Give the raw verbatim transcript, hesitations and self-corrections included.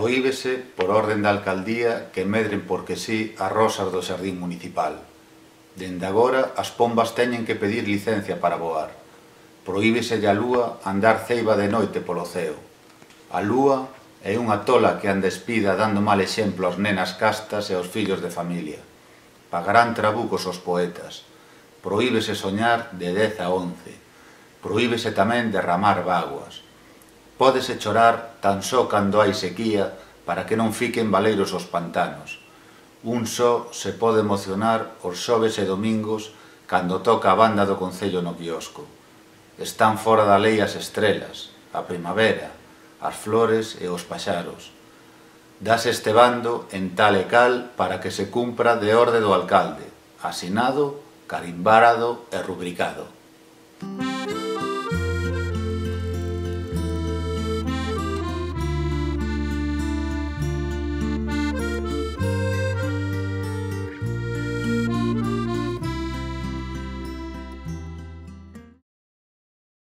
Prohíbese, por orden da alcaldía, que medren porque sí as rosas do xardín municipal. Dende agora, as pombas teñen que pedir licencia para voar. Prohíbeselle a lúa andar ceiba de noite polo ceo. A lúa é unha tola que anda espida dando mal exemplo ás nenas castas e aos fillos de familia. Pagarán trabucos os poetas. Prohíbese soñar de dez a once. Prohíbese tamén derramar bágoas. Pódese chorar tan só cando hai sequía para que non fiquen baleiros os pantanos. Un só se pode emocionar os xoves e domingos cando toca a banda do concello no quiosco. Están fora da lei as estrelas, a primavera, as flores e os paxaros. Dase este bando en tal e cal para que se cumpra de orde do alcalde, asinado, carimbárado e rubricado.